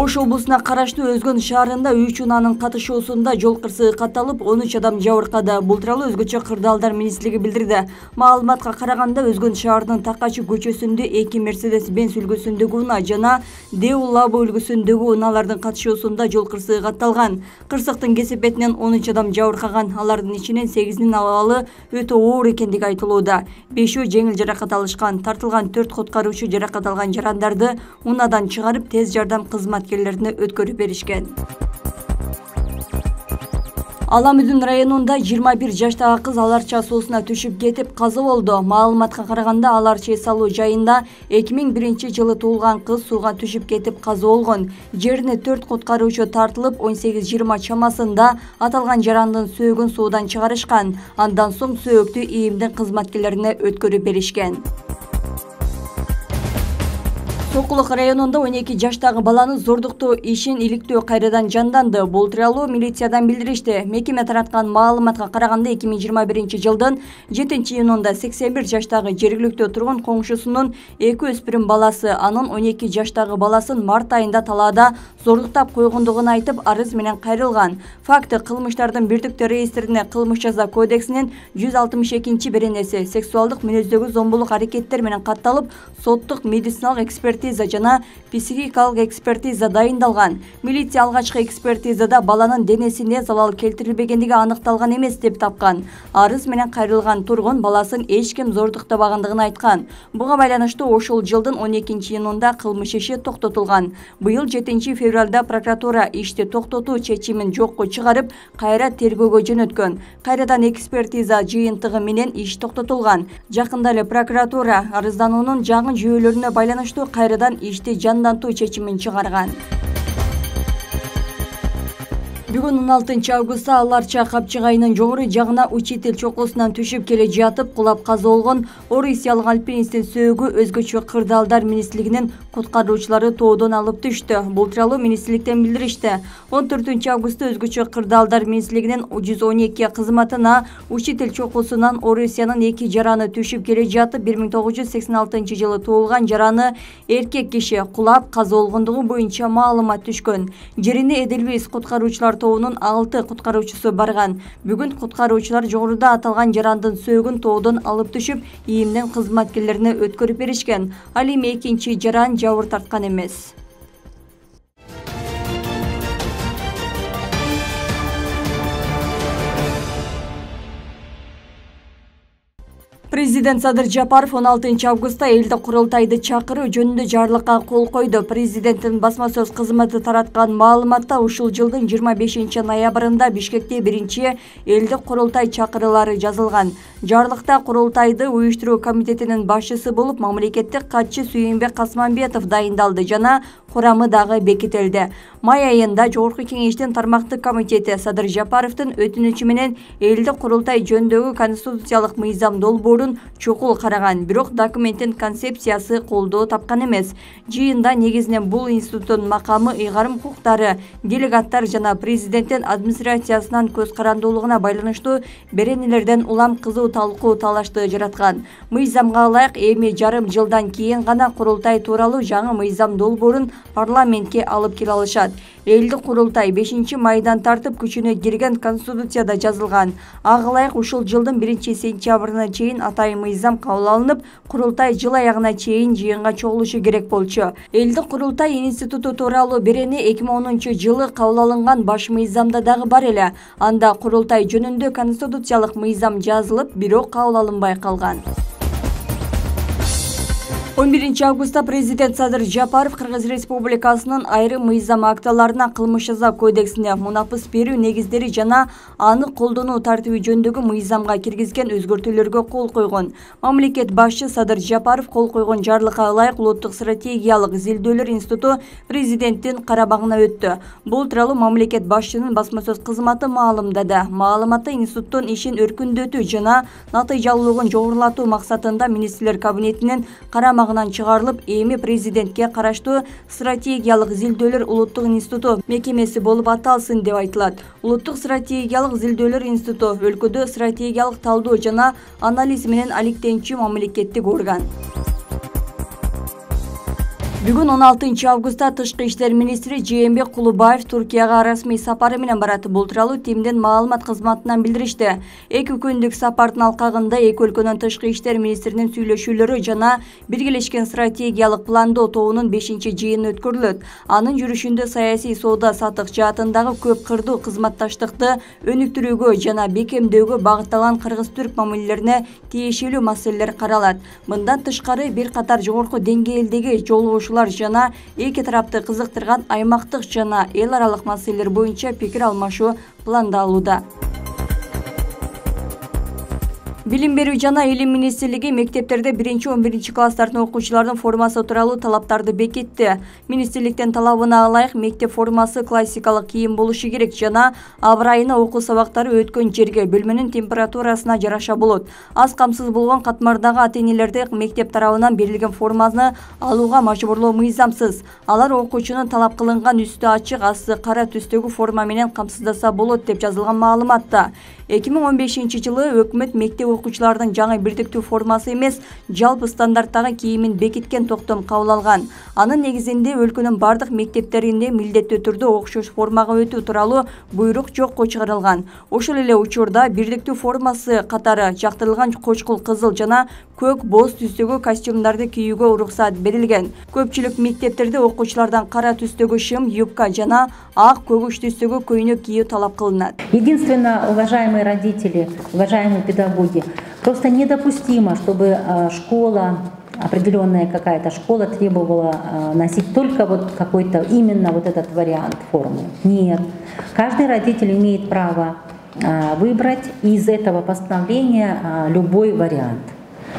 Ош облусуна караштуу Өзгөн шаарында 3 унаанын катышуусунда жол кырсыгы катталып, 13 адам жабыркады. Бул тууралуу өзгөчө кырдаалдар министрлиги билдирди. Маалыматка караганда Өзгөн шаарынын Такачы көчөсүндө 2 Mercedes-Benz үлгүсүндөгү унаа жана Деу Лабо үлгүсүндөгү унаалардын катышуусунда жол кырсыгы катталган. Кырсыктын кесепетинен 13 адам жабыркаган. Алардын ичинен 8-нин абалы өтө оор экендиги айтылууда. 5-өө жеңил жаракат алышкан. Тартылган 4 куткаруучу жаракат алган жарандарды унаадан чыгарып, тез жардам кызматкерлерине өткөрүп беришкен. Аламүдүн районунда 21 жаштагы кыз Аларча суусуна түшүп кетип каза болду. Маалыматка караганда Аларча эс алуу жайында 2001-жылы туулган кыз сууга түшүп кетип каза болгон. Жерине 4 куткаруучу тартылып, 18-20 чамасында аталган жарандын сөөгүн суудан чыгарышкан. Андан соң сөөктү ИИМдин кызматкерлерине өткөрүп беришкен. Сокулук районунда 12 жаштагы баланы зордуктоо ишин иликтөө кайрадан жанданды. Бул тууралуу милициядан билдиришти. Мекеме тараткан маалыматка караганда 2021-жылдын 7-июнунда 81 жаштагы жергиликтүү тургун коңшусунун 2 өспүрүм баласы анын 12 жаштагы баласын март айында талаада зордуктап койгондугун айтып, арыз менен кайрылган. Факты кылмыштардын бирдиктүү реестрине Кылмыш жаза кодексинин 162-беренеси сексуалдык мүнөздөгү зомбулук аракеттер менен катталып, соттук медициналык экспертиза жана психикалык экспертиза дайындалган. Милиция алгачкы экспертизада баланын денесине залал келтирилбегендиги аныкталган эмес деп тапкан. Арыз менен кайрылган тургун баласын эч ким зордуктабагандыгын айткан. Буга байланыштуу ошол жылдын 12-июнунда кылмыш иши токтотулган. Быйыл 7-февралда прокуратура ишти токтотуу чечимин жокко чыгарып, кайра тергөөгө жөнөткөн. Кайрадан экспертиза жыйынтыгы менен иш токтотулган. Жакында эле прокуратура арыздануунун жаңы жүйөлөрүнө байланыштуу кайрадан ишти жандантуу чечимин чыгарган. Бүгүн 16-августта Аларча капчыгайынын жогору жагына учитель чокусунан түшүп келе жатып кулап каза болгон орусиялык альпинисттин сөөгү өзгөчө кырдаалдар министрлигинин куткаруучулары тоодон алып түштү. Бул тууралуу министрликтен билдиришти. 14-августта өзгөчө кырдаалдар министрлигинин 112 кызматына учитель чокусунан Орусиянын 2 жараны түшүп келе жатып 1986-жылы туулган жараны эркек киши кулап каза болгондугу боюнча маалымат түшкөн. Жерине Эдельвейс куткаруучулар тобунун 6 куткаруучусу барган. Бүгүн куткаруучулар жогоруда аталган жарандын сөөгүн тоодон алып түшүп, ИИМдин кызматкерлерине өткөрүп беришкен. Ал эми экинчи жаран жабыр тарткан эмес. Президент Садыр Жапаров 16-августта элди курултайды чакыруу жөнүндө жарлыкка кол койду. Президенттин басма сөз кызматы тараткан маалыматта ушул жылдын 25-ноябрында Бишкекте биринчи элди курултай чакырылары жазылган. Жарлыкта курултайды уюштуруу комитетинин башчысы болуп мамлекеттик катчы Сүйүнбек Касманбетов дайындалды жана курамы дагы бекитилди. Май айында Жогорку кеңештин тармактык комитети Садыр Жапаровдун өтүнүчү менен элди курултай жөнүндөгү конституциялык мыйзам долбоорун чокул караган, бирок документтин концепциясы колдоо тапкан эмес. Жыйында негизинен бул институттун макамы, ыйгарым укуктары, делегаттар жана президенттин администрациясынын көз карандуулугуна байланыштуу беренелерден улам кызуу талкуу талашты жараткан. Мыйзамга ылайык эми жарым жылдан кийин гана курултай тууралуу жаңы мыйзам долбоорун парламентке алып келе алышат. Элди курултай 5-майдан тартып күчүнө кирген конституцияда жазылган. Ага ылайык ушул жылдын 1-сентябрына чейин атайын мыйзам кабыл алынып, курултай жыл аягына чейин жыйынга чогулушу керек болчу. Элди курултай институту тууралуу берени 2010-жылы кабыл алынган баш мыйзамда дагы бар эле. Анда курултай жөнүндө конституциялык мыйзам жазылып, бирок кабыл алынбай калган. 11-августта президент Садыр Жапаров Кыргыз Республикасынын айрым мыйзам актыларына Кылмыш жаза кодексине мунапыс берүү негиздери жана аны колдонуу тартиби жөнүндөгү мыйзамга киргизген өзгөртүүлөргө кол койгон. Мамлекет башчы Садыр Жапаров кол койгон жарлыкка ылайык Улуттук стратегиялык изилдөөлөр институту президенттин карабагына өттү. Бул тууралуу мамлекет башчынын басма сөз кызматы маалымдады. Маалыматта институттун ишин өркүндөтүү жана натыйжалуулугун жогорулатуу максатында министрлер кабинетинин карамагына чыгарылып, эми президентке караштуу стратегиялык изилдөөлөр улуттук институту мекемеси болуп аталсын деп айтылат. Улуттук стратегиялык изилдөөлөр институту өлкөдө стратегиялык талдоо жана анализ менен алектенчү мамлекеттик орган. Бүгүн 16 августта Тышкы иштер министри Жээнбек Кулубаев Туркияга расмий сапары менен барат. Бул тууралуу ТИМдин маалымат кызматынан билдиришти. 2 күндүк сапардын алкагында эки өлкөнүн тышкы иштер министринин сүйлөшүүлөрү жана биргелешкен стратегиялык пландоо тобунун 5-жыйыны өткөрүлөт. Анын жүрүшүндө саясий соода саттык жаатындагы көп кырдуу кызматташтыкты өнүктүрүүгө жана бекемдөөгө багытталган кыргыз-түрк мамилелерине тиешелүү маселелер каралат. Мындан тышкары бир катар жогорку деңгээлдеги жолугушуулар жана эки тарапты кызыктырган аймактык жана эл аралык маселелер боюнча пикир алмашуу пландалууда. Билим берүү жана илим министрлиги мектептерде 1-11 класстардын окуучулардын формасы тууралуу талаптарды бекитти. Министрликтин талабына ылайык мектеп формасы классикалык кийим болушу керек жана абрайына окуу сабактары өткөн жерге, бөлмөнүн температурасына жараша болот. Аз камсыз болгон катмардагы ата-энелерди мектеп тарабынан берилген форманы алууга мажбурлоо мыйзамсыз. Алар окуучунун талап кылынган үстү ачык, асты кара түстөгү форма менен камсыздаса болот деп жазылган маалыматта. 2015-жылы өкмөт мектеп окуучулардын жаңы бирдиктүү формасы эмес, жалпы стандарттагы кийимин бекиткен токтом кабыл алган. Анын негизинде өлкөнүн бардык мектептеринде милдеттүү түрдө окшош формага өтүү тууралуу буйрук жокко чыгарылган. Ошол эле учурда бирдиктүү формасы катары жактырылган кочкул кызыл жана көк боз түстөгү костюмдарды кийүүгө уруксат берилген. Көпчүлүк мектептерде окуучулардан кара түстөгү шым, юбка жана ак, көгүш түстөгү көйнөк кийүү талап кылынат. Единственно, уважаемые родители, уважаемые педагоги, просто недопустимо, чтобы школа, определенная какая-то школа требовала носить только вот какой-то именно вот этот вариант формы. Нет. Каждый родитель имеет право выбрать из этого постановления любой вариант.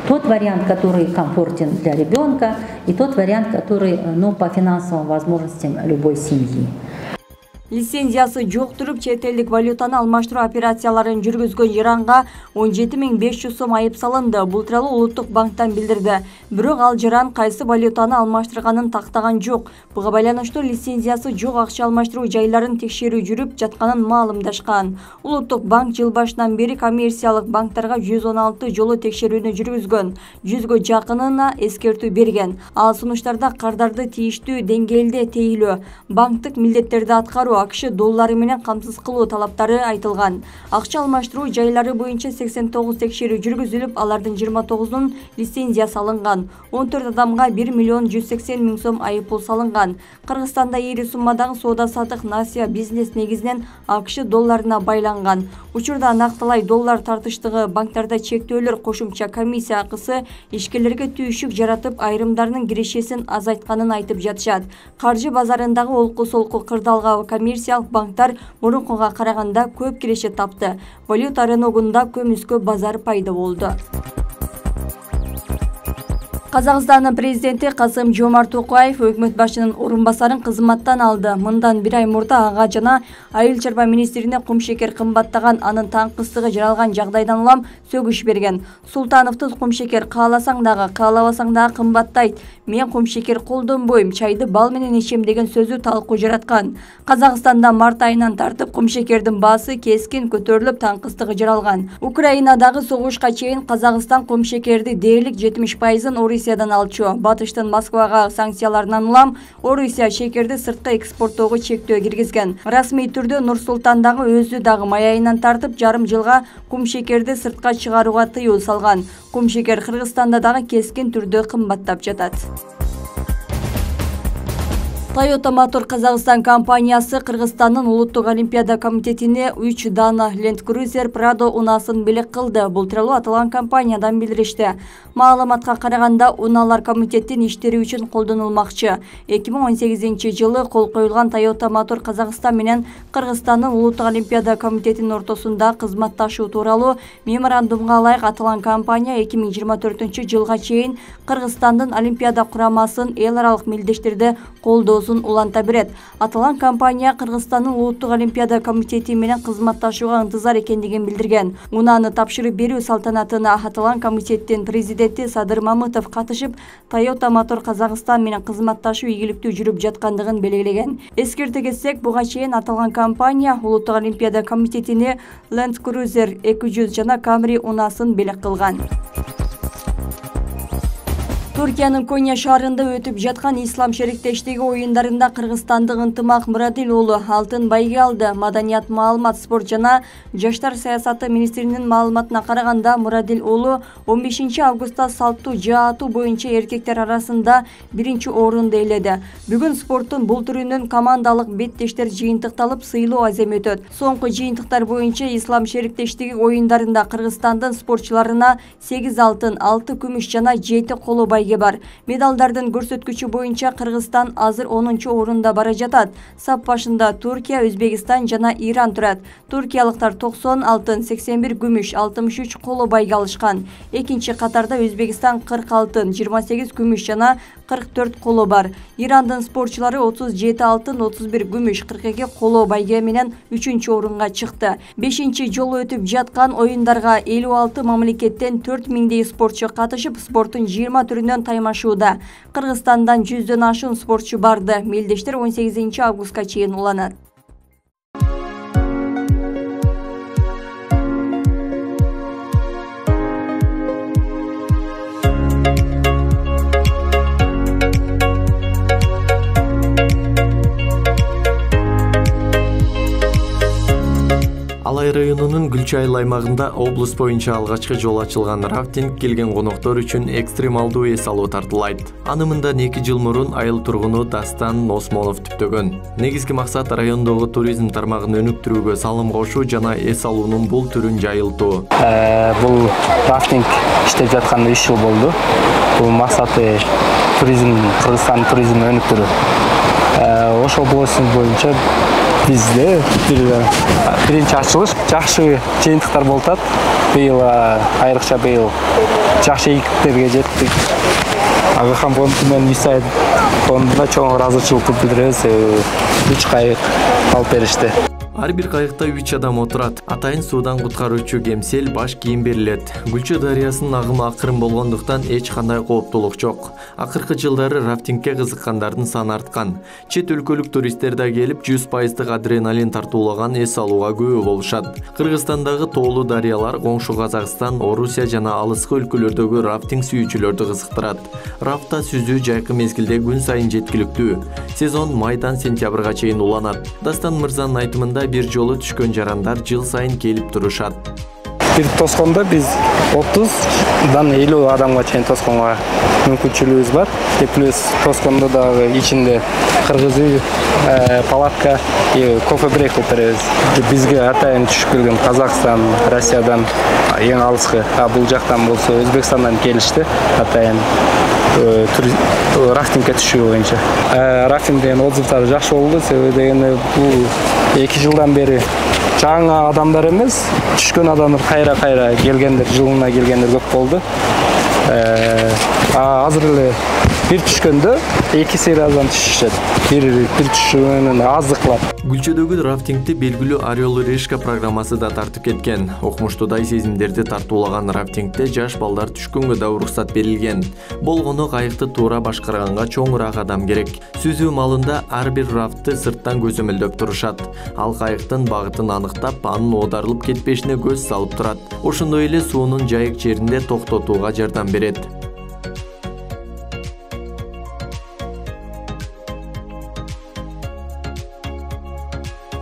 Тот вариант, который комфортен для ребенка, и тот вариант, который по финансовым возможностям любой семьи. Лицензиясы жок туруп чет элдик валютаны алмаштыруу операцияларын жүргүзгөн жаранга 17.500 сом айып салынды. Бул тууралуу Улуттук банктан билдирди. Бирок ал жаран кайсы валютаны алмаштырганын тактаган жок. Буга байланыштуу лицензиясы жок акча алмаштыруу жайларын текшерүү жүрүп жатканын маалымдашкан. Улуттук банк жыл башынан бери коммерциялык банктарга 116 жолу текшерүүнү жүргүзгөн. 100гө жакынына эскертүү берген. Ал сунуштарда кардарды тийиштүү деңгээлде тейлөө, банктык милдеттерди аткаруу, акш доллары менен камсыз кылуу талаптары айтылган. Акча алмаштыруу жайлары боюнча 89 текшерүү жүргүзүлүп, алардын 29-унун лицензиясы алынган. 14 адамга 1.180.000 сом айыппул салынган. Кыргызстанда ири суммадагы соода-саттык насыя бизнес негизинен акш долларына байланган. Учурда нактылай доллар тартыштыгы, банктарда чектөөлөр, кошумча комиссия акысы ишкерлерге түйшүк жаратып, айрымдарынын кирешесин азайтканын айтып жатышат. Каржы базарындагы олку-солку кырдаалга коммерциялык банктар мурункуга караганда көп киреше тапты. Валюта рыногунда көмүскө базар пайда болду. Казакстандын президенти Касым-Жомарт Токаев өкмөт башчынын орун басарын кызматтан алды. Мындан бир ай мурда ага жана айыл чарба министрине кумшекер кымбаттаган, анын таңкыстыгы жаралган жагдайдан улам сөгүш берген. Султановду кумшекер кааласаң дагы, каалабасаң дагы кымбаттайт. Мен кумшекер колдонбойм, чайды бал менен ичем деген сөзү талкуу жараткан. Казакстанда март айынан тартып кумшекердин баасы кескин көтөрүлүп, таңкыстыгы жаралган. Украинадагы согушка чейин Казакстан кумшекерди дээрлик 70%-ын Орусиядан алчу. Батыштын Москвага санкцияларынан улам Орусия шекерди сыртка экспорттоого чектөө киргизген. Расмий түрдө Нур-Султандагы өзү дагы май айынан тартып жарым жылга кумшекерди сыртка чыгарууга тыюу салган. Кумшекер Кыргызстанда дагы кескин түрдө кымбаттап жатат. Toyota Motor Казакстан компаниясы Кыргызстандын Улуттук олимпиада комитетине 3 дана Land Cruiser Prado унасын белек кылды. Бул тууралуу аталган компаниядан билдиришти. Маалыматка караганда, унаалар комитеттин иштери үчүн колдонулмакчы. 2018-жылы кол коюлган Toyota Motor Казакстан менен Кыргызстандын Улуттук олимпиада комитетинин ортосунда кызматташуу тууралуу меморандумга ылайык аталган компания 2024-жылга чейин Кыргызстандын олимпиада курамасын эл аралык мелдештерде колдоо уланта берет. Аталган компания Кыргызстандын Улуттук олимпиада комитети менен кызматташууга ынтызар экендигин билдирген. Унааны тапшырып берүү салтанатына аталган комитеттин президенти Садыр Мамытов катышып, Toyota Motor Казакстан менен кызматташуу ийгиликтүү жүрүп жаткандыгын белгилеген. Эскерте кетсек, буга чейин аталган компания Улуттук олимпиада комитетине Land Cruiser 200 жана Camry унасын белек кылган. Түркиянын Коnya шаарында өтүп жаткан ислам шериктештиги оюндарында кыргызстандык Ынтымак Мурадил уулу алтын байге алды. Маданият, маалымат, спорт жана жаштар саясаты министринин маалыматына караганда, Мурадил уулу 15 августта салттуу жаатуу боюнча эркектер арасында 1-орунду ээледи. Бүгүн спорттун бул түрүнүн командалык беттештер жыйынтыкталып, сыйлоо азем өтөт. Соңку жыйынтыктар боюнча ислам шериктештиги оюндарында Кыргызстандын спортчуларына 8 алтын, 6 күмүш жана 7 коло байге бар. Медалдардын көрсөткүчү боюнча Кыргызстан азыр 10-орунда бара жатат. Сап башында Туркия, Өзбекстан жана Иран турат. Туркиялыктар 90 алтын, 81 күмүш, 63 коло байге алышкан. Экинчи катарда Өзбекстан 40 алтын, 28 күмүш жана 44 коло бар. Ирандын спортчулары 37 алтын, 31 күмүш, 42 коло байге менен 3-орунга чыкты. 5-жолу өтүп жаткан оюндарга 56 мамлекеттен 4000дей спортчу катышып, спорттун 20 түрүнөн таймашууда. Кыргызстандан 100дөн ашуун спортчу барды. Мелдештер 18 августка чейин уланат. Алай районунун Гүлчайыл аймагында облус боюнча алгачкы жол ачылган рафтинг келген коноктор үчүн экстремалдуу эс алуу тартылайт. Аны мындан 2 жыл мурун айыл тургуну Дастан Осмонов түптөгөн. Негизги максат райондогу туризм тармагын өнүктүрүүгө салым кошуу жана эс алуунун бул түрүн жайылтуу. Бул рафтинг иштеп жатканда 3 жыл болду. Бул максаты туризм, Кыргызстан туризмин өнүктүрүү. Ош облусу боюнча бизде биринчи ачылыш жакшы жыйынтыктар болуп атат. Быйыл айрыкча жакшы ийгиликтерге жеттик. Агахан фонду менен USAID фондуна чоң ыраазычылык билдиребиз. 3 кайык алып беришти. Ар бир кайыкта 3 адам отурат. Атайын суудан куткаруучу кемсел баш кийим берилет. Гүлчө дарыясынын агымы акырын болгондуктан эч кандай кооптулук жок. Акыркы жылдары рафтингке кызыккандардын саны арткан. Чет өлкөлүк туристтер да келип 100% адреналин тартуулаган эс алууга күбө болушат. Кыргызстандагы тоолуу дарыялар коңшу Казакстан, Орусия жана алыскы өлкөлөрдөгү рафтинг сүйүүчүлөрдү кызыктырат. Рафта сүзүү жайкы мезгилде күн сайын жеткиликтүү. Сезон майдан сентябрга чейин уланат. Дастан мырзанын айтымында бир жолу түшкөн жарандар жыл сайын келип турушат. Бир тоскондо биз 30дан 50 адамга чейин тосконго мүмкүнчүлүгүбүз бар. Плюс тоскондо дагы ичинде кыргыз үй, палатка, кофе брейк кылып беребиз. Бизге атайын түшүп келген Казакстан, Россиядан эң алыскы, бул жактан болсо Өзбекстандан келишти. Атайын рафтингке түшүү боюнча. Рафтингден отзывдары жакшы болду, себеби дегенде бул 2 жылдан бери жаңа адамдар эмес, түшкөн адамдар кайра келгендер, жылына келгендер көп болду. Азыр эле бир түшкөндө 2 сериядан түшүшөт. Бир түшүүнүн аздык кылат. Гүлчөдөгү рафтингти белгилүү Орел и Решка программасы да тартып кеткен. Окумуштуудай сезимдерди тартуулаган рафтингте жаш балдар түшкөнгө да уруксат берилген. Болгону кайыкты туура башкарганга чоңураак адам керек. Сүзүү маалында ар бир рафтты сырттан көзөмөлдөп турушат. Ал кайыктын багытын аныктап, анын оодарылып кетпешине көз салып турат. Ошондой эле суунун жайык жеринде токтотууга жардам берет.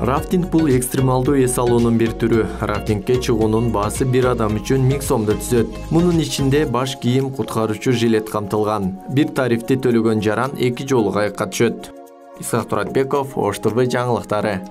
Рафтинг бул экстремалдуу эс алуунун бир түрү. Рафтингке чыгуунун баасы бир адам үчүн 1000 сомду түзөт. Мунун ичинде баш кийим, куткаруучу жилет камтылган. Бир тарифти төлөгөн жаран 2 жолу кайыкка түшөт. Исхак Туратбеков, Ош ТВ жаңылыктары.